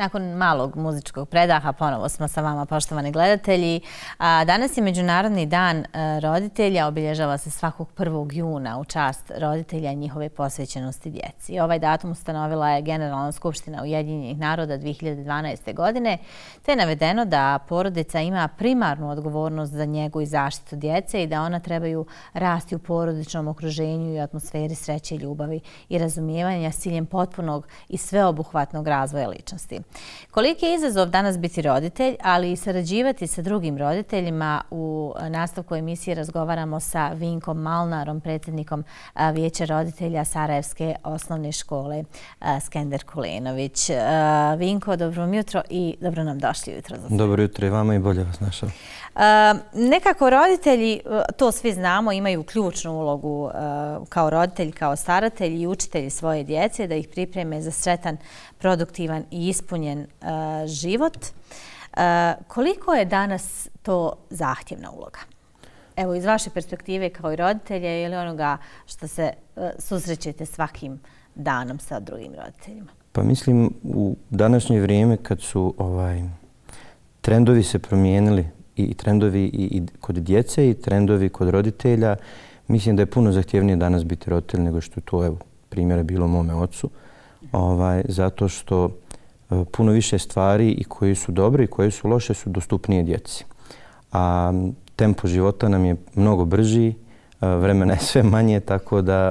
Nakon malog muzičkog predaha ponovo smo sa vama, poštovani gledatelji. Danas je Međunarodni dan roditelja, obilježava se svakog 1. juna u čast roditelja i njihove posvećenosti djeci. Ovaj datum ustanovila je Generalna skupština Ujedinjenih naroda 2012. godine, te je navedeno da porodica ima primarnu odgovornost za njegu i zaštitu djece i da ona trebaju rasti u porodičnom okruženju i atmosferi sreće i ljubavi i razumijevanja s ciljem potpunog i sveobuhvatnog razvoja ličnosti. Koliki je izazov danas biti roditelj, ali i sarađivati sa drugim roditeljima? U nastavku emisije razgovaramo sa Vinkom Malnarom, predsjednikom Vijeća roditelja Sarajevske osnovne škole Skender Kulenović. Vinko, dobro jutro i dobro nam došli jutro. Dobro jutro i vama i bolje vas našao. Nekako roditelji, to svi znamo, imaju ključnu ulogu kao roditelji, kao staratelji i učitelji svoje djece da ih pripreme za sretan, produktivan i ispunjen život. Koliko je danas to zahtjevna uloga? Evo, iz vaše perspektive kao i roditelja ili onoga što se susrećete svakim danom sa drugim roditeljima? Pa mislim, u današnje vrijeme kad su trendovi se promijenili, i trendovi i kod djece i trendovi kod roditelja, mislim da je puno zahtjevnije danas biti roditelj nego što je to, evo, primjera bilo mome ocu. Zato što puno više stvari i koje su dobre i koje su loše su dostupnije djeci. A tempo života nam je mnogo brži, vremena je sve manje, tako da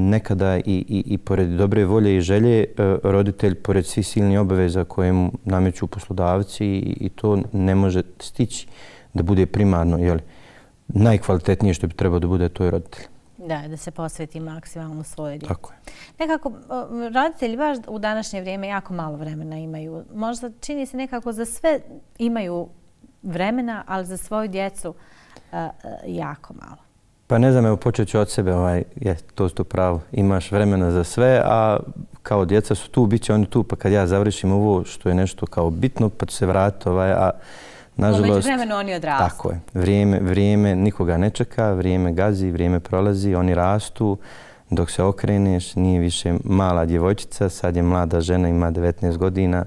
nekada i pored dobre volje i želje roditelj, pored svih silnih obaveza koje mu nameću poslodavci, i to ne može stići da bude primarno, najkvalitetnije što bi trebao da bude, to je roditelj. Da se posveti maksimalno svoje djeci. Tako je. Nekako, roditelji baš u današnje vrijeme jako malo vremena imaju. Možda čini se nekako za sve imaju vremena, ali za svoju djecu jako malo. Pa ne znam, evo počet ću od sebe, to je to pravo. Imaš vremena za sve, a kao djeca su tu, bit će oni tu, pa kad ja završim ovo što je nešto kao bitno, pa ću se vratiti, a nažalost... Među vremenu oni odrastu. Tako je. Vrijeme nikoga ne čeka, vrijeme gazi, vrijeme prolazi, oni rastu. Dok se okreneš, nije više mala djevojčica, sad je mlada žena, ima 19 godina,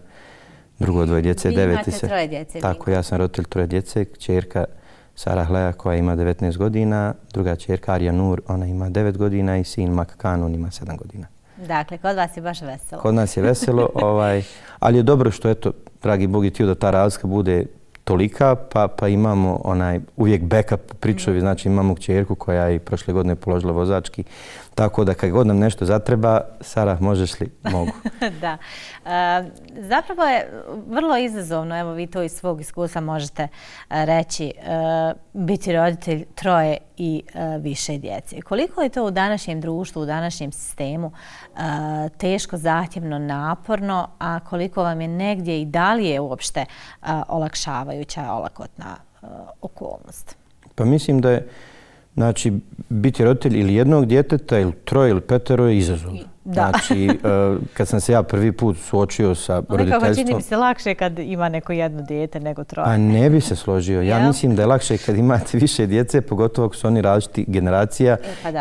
drugo dvoje djece, 9. Vi imate 3 djece. Tako, ja sam roditelj 3 djece, kćerka Sara Hleja koja ima 19 godina, druga kćerka Arija Nur, ona ima 9 godina i sin Makkan, on ima 7 godina. Dakle, kod vas je baš veselo. Kod nas je veselo, ali je dobro što, eto, dragi Bog je htio da ta razlika bude tolika, pa imamo uvijek backup u pričovi, znači imamo kćerku koja je prošle godine položila vozački, tako da kad god nam nešto zatreba, Sara, možeš li? Mogu. Da. Zapravo je vrlo izazovno, evo vi to iz svog iskustva možete reći, biti roditelj 3 i više djece. Koliko je to u današnjem društvu, u današnjem sistemu teško, zahtjevno, naporno, a koliko vam je negdje i da li je uopšte olakšavajuća, olakotna okolnost? Pa mislim da je, znači, biti roditelj ili jednog djeteta ili 3 ili 5 je izazov. Znači, kad sam se ja prvi put suočio sa roditeljstvom... Nekako čini mi se lakše kad ima neko jedno dijete nego 3. A ne bi se složio. Ja mislim da je lakše kad imate više djece, pogotovo ako su oni različiti generacija,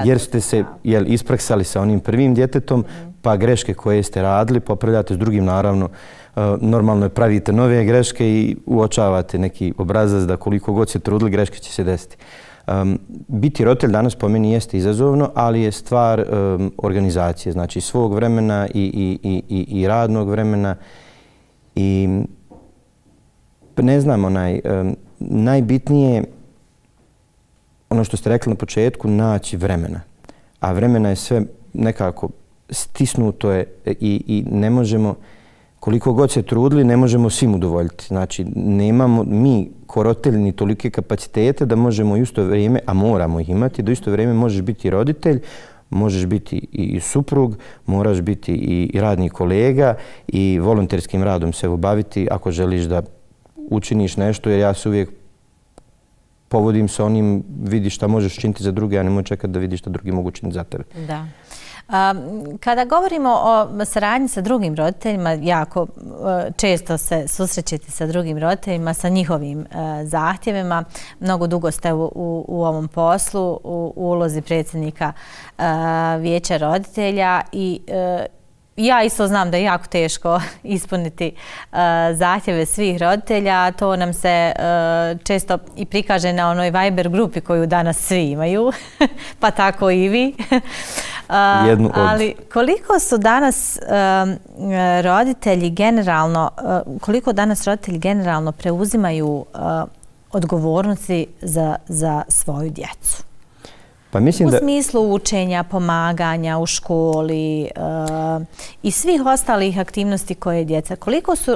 jer ste se ispraksali sa onim prvim djetetom, pa greške koje ste radili popravljate s drugim, naravno. Normalno je pravite nove greške i uočavate neki obrazac da koliko god se trudili, greške će se desiti. Biti roditelj danas po meni jeste izazovno, ali je stvar organizacije, znači svog vremena i radnog vremena. I ne znam, najbitnije, ono što ste rekli na početku, naći vremena. A vremena je sve nekako stisnuto je i ne možemo, koliko god se trudili, ne možemo svim udovoljiti. Znači, nemamo mi ko roditelji ni tolike kapacitete da možemo u isto vrijeme, a moramo ih imati, da u isto vrijeme možeš biti roditelj, možeš biti i suprug, moraš biti i radni kolega i volonterskim radom se obaviti ako želiš da učiniš nešto, jer ja se uvijek povodim sa onim, vidi šta možeš činiti za druge, a nemoj čekati da vidiš šta drugi mogu činiti za tebe. Da. Kada govorimo o saradnji sa drugim roditeljima, jako često se susrećete sa drugim roditeljima, sa njihovim zahtjevima. Mnogo dugo ste u ovom poslu, u ulozi predsjednika Vijeća roditelja i ja isto znam da je jako teško ispuniti zahtjeve svih roditelja. To nam se često i prikaže na onoj Viber grupi koju danas svi imaju, pa tako i vi. Ali koliko su danas roditelji generalno preuzimaju odgovornosti za svoju djecu? U smislu učenja, pomaganja u školi i svih ostalih aktivnosti koje djeca.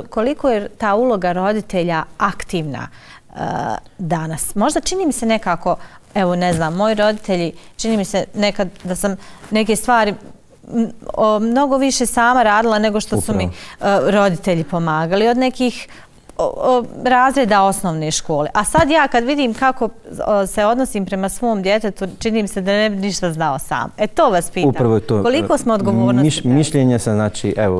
Koliko je ta uloga roditelja aktivna danas? Možda čini mi se nekako, evo ne znam, moji roditelji, čini mi se nekad da sam neke stvari mnogo više sama radila nego što su mi roditelji pomagali. Od nekih razreda osnovne škole. A sad ja kad vidim kako se odnosim prema svom djetetu, čini mi se da ne bi ništa znao sam. To vas pitam. Upravo je to. Koliko smo odgovornosti? Mišljenja sam,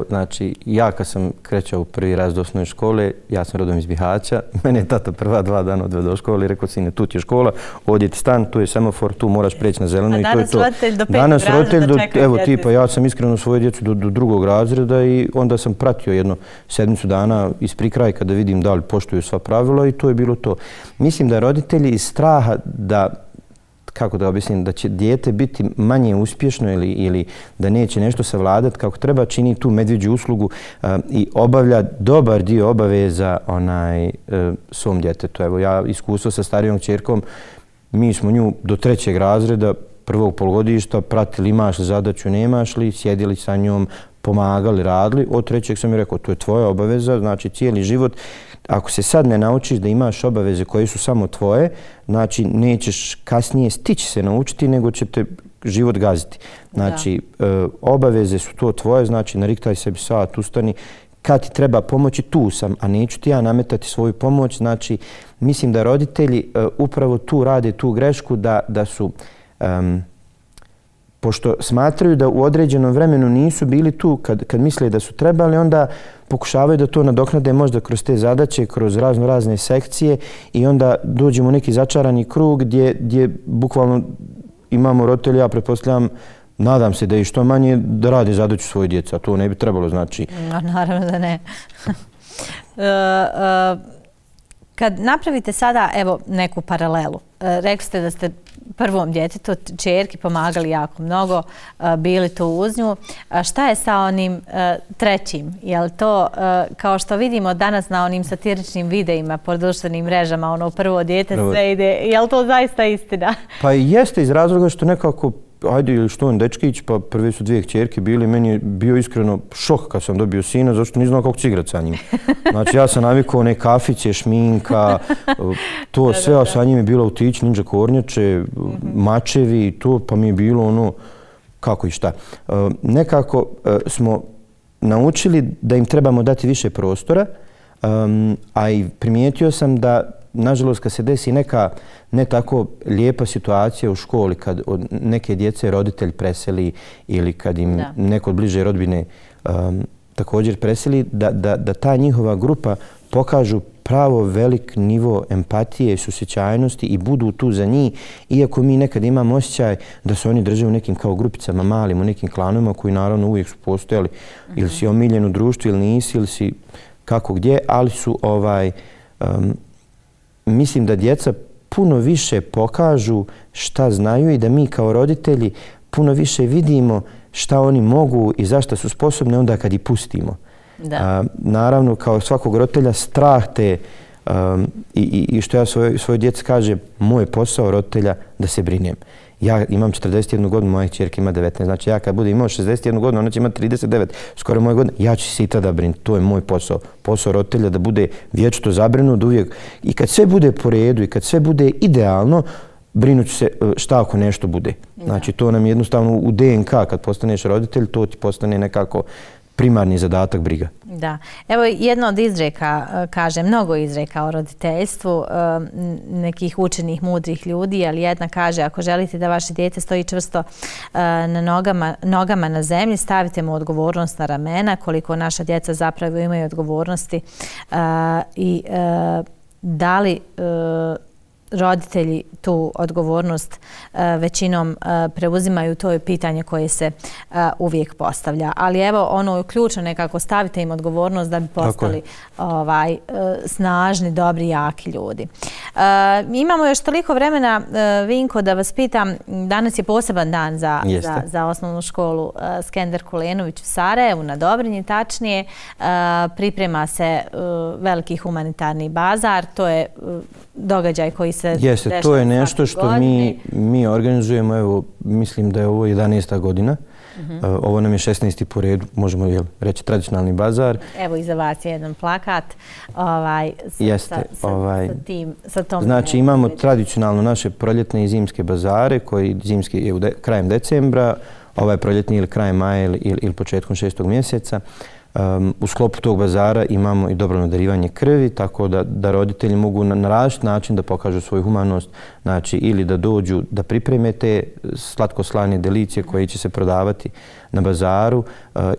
znači, ja kad sam krećao u prvi razred osnovne škole, ja sam rodom iz Bihaća, mene je tata prva 2 dana odveo do škole i rekao, sine, tu ti je škola, ovdje ti stan, tu je semafor, tu moraš preći na zeleno i to je to. Danas roditelj do 5. razreda Evo tipa, ja sam iskreno svoje djecu do 2. razreda i onda sam pratio jedno 7 dana iz prikrajka da vidim da li poštuju sva pravila i to je bilo to. Mislim da roditelji iz straha da, kako da objasnim, da će dijete biti manje uspješno ili da neće nešto savladati kako treba, čini tu medvjeđu uslugu i obavlja dobar dio obaveza svom djetetu. Evo ja iskustvo sa starijom kćerkom, mi smo nju do 3. razreda prvog polugodišta pratili imaš li zadaću, nemaš li, sjedili sa njom, pomagali, radili. Od 3. sam mi rekao, to je tvoja obaveza, znači cijeli život. Ako se sad ne naučiš da imaš obaveze koje su samo tvoje, znači nećeš kasnije stići se naučiti, nego će te život gaziti. Znači, obaveze su to tvoje, znači nariktaj sebi sat, ustani. Kad ti treba pomoći, tu sam, a neću ti ja nametati svoju pomoć. Znači, mislim da roditelji upravo tu rade tu grešku da su... Pošto smatraju da u određenom vremenu nisu bili tu kad misle da su trebali, onda pokušavaju da to nadoknade možda kroz te zadaće, kroz razne sekcije i onda dođemo u neki začarani krug gdje bukvalno imamo roditelja, ja pretpostavljam, nadam se da je što manje da rade zadaću svoje djece, a to ne bi trebalo, znači... Naravno da ne. Kad napravite sada, evo, neku paralelu, rekli ste da ste prvom djetetu, čerki, pomagali jako mnogo, bili tu uz nju. Šta je sa onim 3? Je li to, kao što vidimo danas na onim satiričnim videima po društvenim mrežama, ono prvo dijete sve ide, je li to zaista istina? Pa jeste iz razloga što nekako, ajde ili što on dečkić, pa prve su 2 kćerke bili, meni je bio iskreno šok kad sam dobio sina, zašto nisam znao kako ću igrati sa njim. Znači ja sam navikao one kafiće, šminka, to sve, a sa njim je bilo autić, ninja kornjače, mačevi i to, pa mi je bilo ono kako i šta. Nekako smo naučili da im trebamo dati više prostora, a i primijetio sam da nažalost, kad se desi neka ne tako lijepa situacija u školi, kad od neke djece roditelj preseli ili kad im neko od bliže rodbine također preseli, da ta njihova grupa pokažu pravo velik nivo empatije, susjećajnosti i budu tu za njih, iako mi nekad imamo osjećaj da se oni drže u nekim kao grupicama malim, u nekim klanovima koji naravno uvijek su postojali, ili si omiljen u društvu ili nisi, ili si kako gdje, ali su mislim da djeca puno više pokažu šta znaju i da mi kao roditelji puno više vidimo šta oni mogu i zašto su sposobni onda kad ih pustimo. Naravno, kao svakog roditelja, strah te i što ja svojoj djeci kažem, moj posao roditelja da se brinem. Ja imam 41 godinu, moja kćerka ima 19. Znači ja kad budem imao 61 godinu, ona će imati 39, skoro moje godine, ja ću se i tada brinuti. To je moj posao. Posao roditelja da bude vječito zabrinut uvijek. I kad sve bude po redu i kad sve bude idealno, brinut ću se šta ako nešto bude. Znači to nam jednostavno u DNK kad postaneš roditelj, to ti postane nekako primarni zadatak, briga. Da. Evo jedno od izreka, kaže, mnogo izreka o roditeljstvu nekih učenih, mudrih ljudi, ali jedna kaže, ako želite da vaše dijete stoji čvrsto na nogama na zemlji, stavite mu odgovornost na ramena, koliko naša djeca zapravo imaju odgovornosti i da li roditelji tu odgovornost većinom preuzimaju, to je pitanje koje se uvijek postavlja. Ali evo, ono ključno nekako, stavite im odgovornost da bi postali snažni, dobri, jaki ljudi. Imamo još toliko vremena, Vinko, da vas pitam, danas je poseban dan za osnovnu školu Skender Kulenović u Sarajevu, na Dobrinji tačnije. Priprema se veliki humanitarni bazar, to je događaj koji se dešava svake godine. To je nešto što mi organizujemo, evo, mislim da je ovo 11. godina. Ovo nam je 16. po redu, možemo reći tradicionalni bazar. Evo iza vas je jedan plakat sa tom. Znači imamo tradicionalno naše proljetne i zimske bazare, koji zimski je krajem decembra, ovaj proljetni ili krajem maja ili početkom 6. mjeseca. U sklopu tog bazara imamo i dobrovoljno darivanje krvi, tako da roditelji mogu na različit način da pokažu svoju humanost, znači ili da dođu da pripreme te slatko-slane delicije koje će se prodavati na bazaru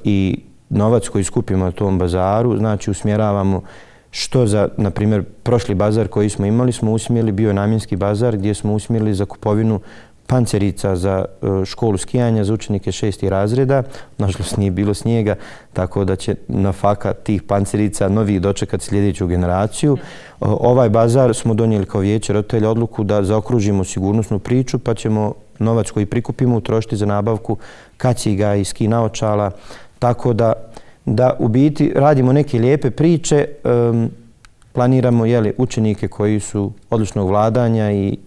i novac koji skupimo na tom bazaru, znači usmjeravamo što za, na primjer, prošli bazar koji smo imali, smo usmjerili, bio je namjenski bazar gdje smo usmjerili za kupovinu pancerica za školu skijanja za učenike 6. razreda. Nažalost nije bilo snijega, tako da će na faka tih pancerica novi dočekati sljedeću generaciju. Ovaj bazar smo donijeli kao vijeće roditelja odluku da zaokružimo sigurnosnu priču, pa ćemo novac koji prikupimo utrošiti za nabavku kaciga i ski naočala. Tako da u biti radimo neke lijepe priče, planiramo učenike koji su odličnog vladanja i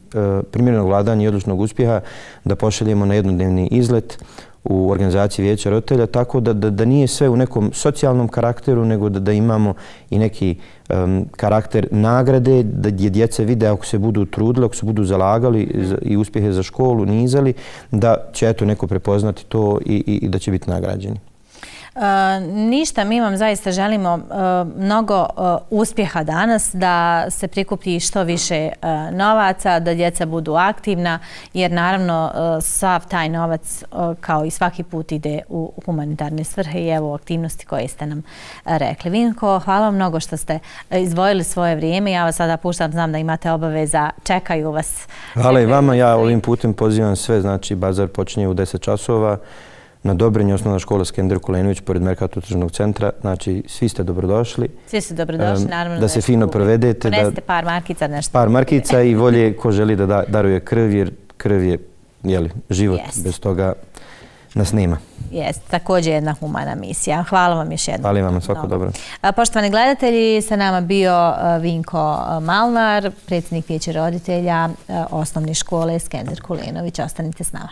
primjerenog vladanja i odličnog uspjeha da pošaljemo na jednodnevni izlet u organizaciji vijeća roditelja, tako da nije sve u nekom socijalnom karakteru, nego da imamo i neki karakter nagrade, gdje djeca vide ako se budu trudili, ako se budu zalagali i uspjehe za školu nizali, da će neko prepoznati to i da će biti nagrađeni. Ništa, mi vam zaista želimo mnogo uspjeha danas, da se prikupi što više novaca, da djeca budu aktivna, jer naravno sav taj novac kao i svaki put ide u humanitarne svrhe i evo aktivnosti koje ste nam rekli. Vinko, hvala vam mnogo što ste izdvojili svoje vrijeme. Ja vas sada puštam, znam da imate obaveza, čekaju vas. Hvala i vama, ja ovim putem pozivam sve, znači bazar počinje u 10 časova. Na Dobrinji, osnovna škola Skender Kulenović, pored Merkator tržnog centra. Znači, svi ste dobrodošli. Svi ste dobrodošli, naravno. Da se fino provedete. Ponesite par markica, nešto. Par markica i volje ko želi da daruje krv, jer krv je život. Bez toga nas nema. Jeste, također jedna humana misija. Hvala vam još jednom. Hvala vam, svako dobro. Poštovani gledatelji, sa nama bio Vinko Malnar, predsjednik vijeća roditelja osnovne škole Skender Kulenović. Ostanite s nama.